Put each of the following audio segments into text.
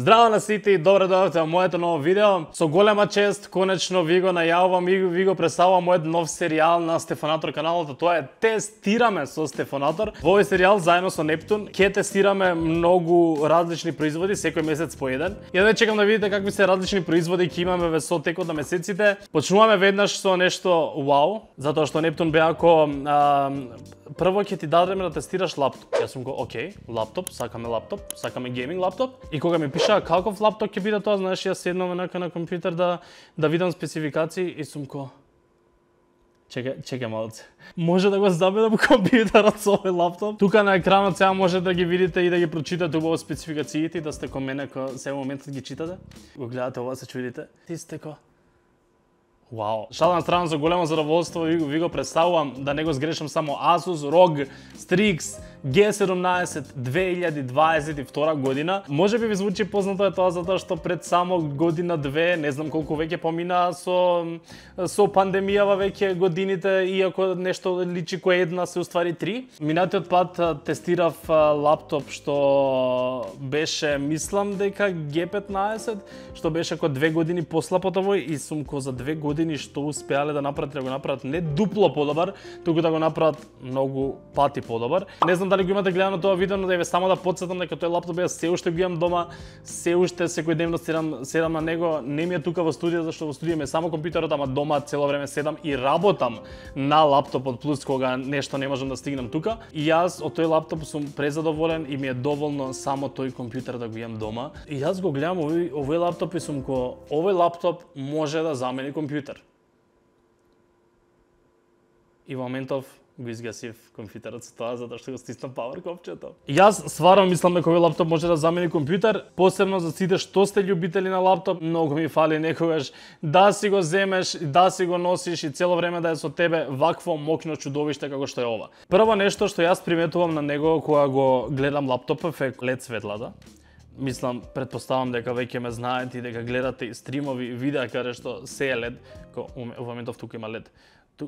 Здраво на сите и добре дојдовте во моето ново видео. Со голема чест, конечно ви го најавувам и ви го представувам мојот нов серијал на Стефанатор каналот, тоа е Тестираме со Стефанатор. Во овој серијал заедно со Нептун ќе тестираме многу различни производи секој месец по еден. Ја да чекам да видите какви се различни производи ќе имаме во со текот на месеците. Почнуваме веднаш со нешто вау, затоа што Нептун бе ако прво ќе ти дадеме да тестираш лаптоп. Јас сум го, окей, лаптоп, сакаме гейминг лаптоп. И кога ми пиша каков лаптоп ќе биде тоа, знаеш, јас седнам на компјутер да видам спецификации и сум ко чекај малце. Може да го забедам компјутерот со овој лаптоп. Тука на екранот сега може да ги видите и да ги прочитате убаво спецификациите и да сте ко мене ко се моментот ги читате. Го гледате ова, се чудите. Ти сте ко вау. Шала на страна, за големо задоволство ви го представувам, да не го сгрешам, само Asus ROG Strix G17 2022 година. Може би ви звучи познато е тоа затоа што пред само година-две, не знам колку веќе помина со пандемијава веќе годините, иако нешто личи кој една се уствари три. Минатиот пат тестирав лаптоп што беше, мислам дека G15, што беше ко 2 години послаб од овој и сум ко за 2 години што успеале да направат не дупло подобар, туку да го направат многу пати подобар. Не знам дали го имате гледано тоа видео, но да ве само да потсетам дека тој лаптоп ја се уште го имам дома, се уште секојдневно седам на него, не ми е тука во студио зашто во студио ми е само компјутерот, ама дома цело време седам и работам на лаптопот плюс кога нешто не можам да стигнам тука. И јас од тој лаптоп сум презадоволен и ми е доволно само тој компјутер да го имам дома. И јас го гледам овој лаптоп и сум ко овој лаптоп може да замени компјутер. И во моментов го изгасив компјутерот со тоа затоа што го стиснав пауер копчето. Јас стварно мислам дека овој лаптоп може да замени компјутер, посебно за сите што сте љубители на лаптоп. Многу ми фали некогаш да си го земеш, да си го носиш и цело време да е со тебе вакво мокно чудовиште како што е ова. Прво нешто што јас приметувам на него кога го гледам лаптопов е LED светлата. Мислам, предпоставам дека веќе ме знаете и дека гледате стримови, видеа каде што се е LED, во моментов тука има LED.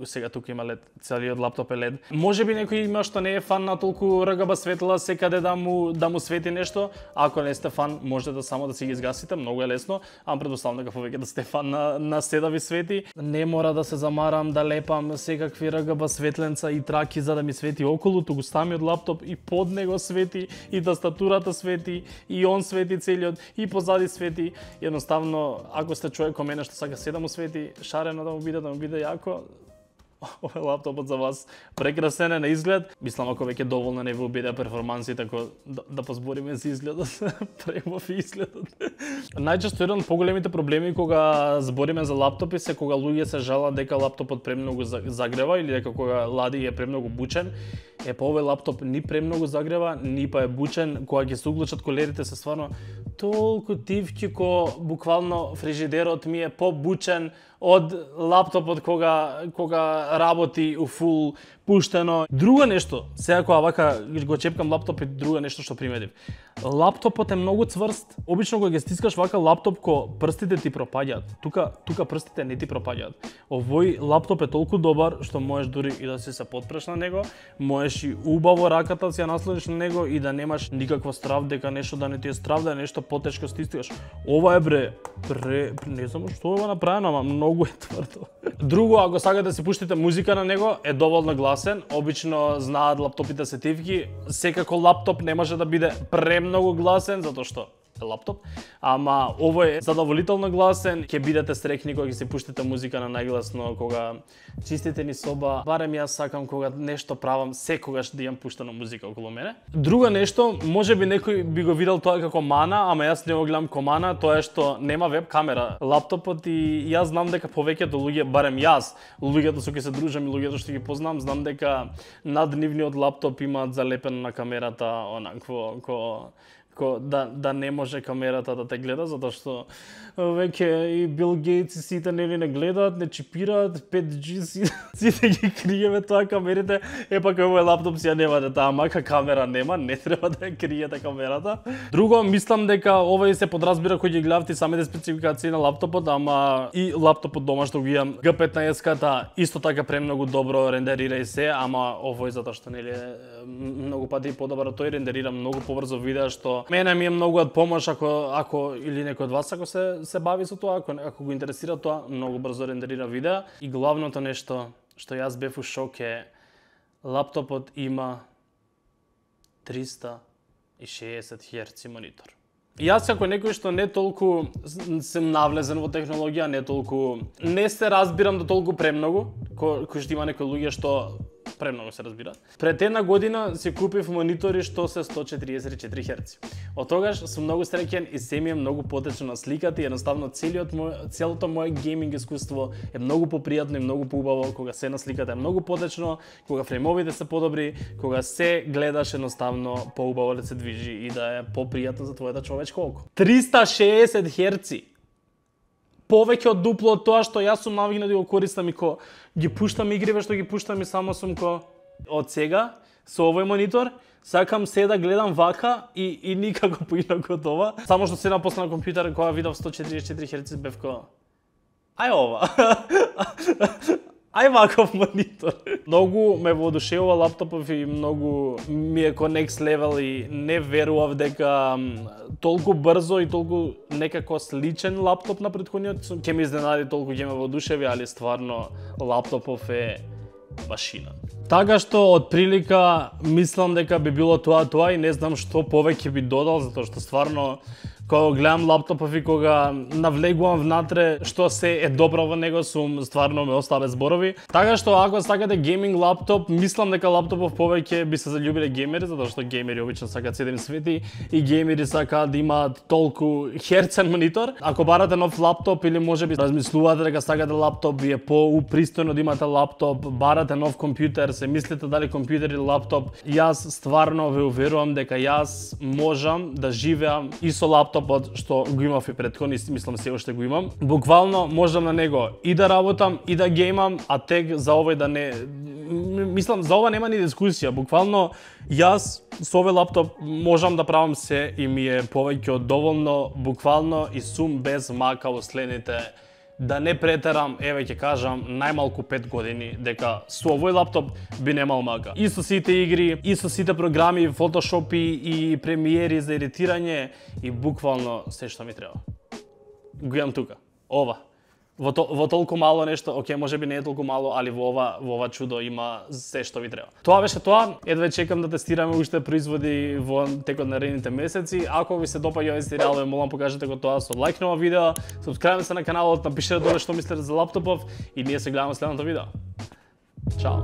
Сега тука има LED, целиот лаптоп е LED. Може би некој има што не е фан на толку РГБ светла секаде да му свети нешто. Ако не сте фан, може да само да си ги изгасите, многу е лесно, ама предпоставам дека повеќе да сте фан на се да ви свети. Не мора да се замарам да лепам секакви РГБ светленца и траки за да ми свети околу, туку самиот лаптоп и под него свети, и тастатурата свети, и он свети целиот, и позади свети. Едноставно, ако сте човек ко мене што сака се да му свети, шарено да му биде јако, овој лаптопот за вас прекрасен е на изглед. Мислам ако веќе доволно не ви обиде перформанси, така да позбориме за изгледот, премов изгледот. Најчесто еден од поголемите проблеми кога збориме за лаптопи се кога луѓе се жалат дека лаптопот премногу загрева или дека кога лади е премногу бучен. Па овој лаптоп ни премногу загрева, ни па е бучен, кога ќе се уклучат колерите се стварно толку тивки ко буквално фрижидерот ми е побучен од лаптопот кога работи у фул пуштено. Друго нешто, сега кога вака го чепкам лаптоп и друго нешто што приметив. Лаптопот е многу цврст. Обично кога ќе стискаш вака лаптоп ко прстите ти пропаѓаат. Тука прстите не ти пропаѓаат. Овој лаптоп е толку добар што можеш дури и да си се потпреш на него, можеш и убаво раката си ја наслониш на него и да немаш никаква страв дека нешто да не ти е страв, да нешто потешко стискаш. Ова е не знам што е направено, ама многу е тврдо. Друго, ако сакате да си пуштите музика на него, е доволно гласен. Обично знаат лаптопите се тивки. Секако лаптоп не може да биде премногу гласен, затоа што е лаптоп, ама овој е задоволително гласен. Ќе бидете среќни кога ќе си пуштите музика на најгласно, кога чистите ни соба. Барем јас сакам кога нешто правам, секогаш да имам пуштена музика околу мене. Друго нешто, може би некој би го видел тоа како мана, ама јас не го гледам како мана, тоа е што нема веб камера лаптопот и јас знам дека повеќето луѓе, барем јас, луѓето со кои се дружам и луѓето што ги познам, знам дека наднивниот лаптоп имаат залепено на камерата онакво да не може камерата да те гледа, затоа што веќе и Бил Гейтс и сите нели не гледаат, не чипираат, 5G сите ги криеме тоа камерите. Пак овој лаптоп си ја немате таа мака камера нема, не треба да ја криете камерата. Друго, мислам дека овој се подразбира кој ги гледавте самите спецификации на лаптопот, ама и лаптопот дома што го имам G15-ката исто така премногу добро рендерира и се, ама овој затоа што нели многу пати подобар од тој, рендерира многу побрзо видеа што што мене ми е многу од помош ако или некој од вас ако се бави со тоа, ако го интересира тоа, многу брзо рендерира видеа. И главното нешто што јас бев у шок е лаптопот има 360 Hz монитор. Јас како некој што не толку сум навлезен во технологија, не се разбирам до толку премногу, кој што има некои луѓе што премногу се разбираат. Пред една година си купив монитори што се 144 Hz. Од тогаш сум многу среќен и се ми е многу потечно на сликата и едноставно целото мое гейминг искуство е многу попријатно и многу поубаво кога се на сликата е многу потечно, кога фреймовите се подобри, кога се гледаш едноставно поубаво да се движи и да е попријатно за твоето човечко око. 360 Hz. Повеќе од дупло од тоа што јас сум навигнат да го користам и ги пуштам игриве што ги пуштам и само сум од сега со овој монитор сакам се да гледам вака и никако поинаку од ова. Само што седам после на компјутер кога видов 144 Hz бев ај ова. Ај ваков монитор. Многу ме воодушевува лаптопов и многу ми е next level и не верував дека толку брзо и толку некако сличен лаптоп на претходниот ќе ме изненади, толку ќе ме воодушеви, али стварно лаптопов е машина. Така што од прилика мислам дека би било тоа и не знам што повеќе би додал, затоа што стварно кога гледам лаптопов и кога навлегувам внатре што се е добро во него, стварно ме остава без зборови. Така што ако сакате гейминг лаптоп, мислам дека лаптопов повеќе би се заљубиле геймери, затоа што геймери обично сакаат 7 свети и геймери сакаат да имаат толку херцен монитор. Ако барате нов лаптоп или можеби размислувате дека сакате лаптоп, ви е попристојно да имате лаптоп, барате нов компјутер, се мислите дали компјутер или лаптоп, јас стварно ве уверувам дека јас можам да живеам и со лаптоп што го имав и претходно, мислам се уште го имам. Буквално можам на него и да работам и да геймам, а тек за овој да не мислам за ова нема ни дискусија. Буквално јас со овој лаптоп можам да правам се и ми е повеќе од доволно, буквално и сум без мака во следните, да не претерам, еве ќе кажам, најмалку 5 години, дека со овој лаптоп би немал мака. И со сите игри, и со сите програми, фотошопи и премиери за едитирање и буквално се што ми треба. Го имам тука. Ова. Во толку мало нешто, окей, можеби не е толку мало, али во ова чудо има се што ви треба. Тоа беше тоа. Едва чекам да тестираме уште производи во текот на наредните месеци. Ако ви се допаѓа овој серијал, ве молам покажете го тоа со лајк на ова видео, сапскрајбнете се на каналот, напишете доле што мислите за лаптопов и ние се гледаме следното видео. Чао.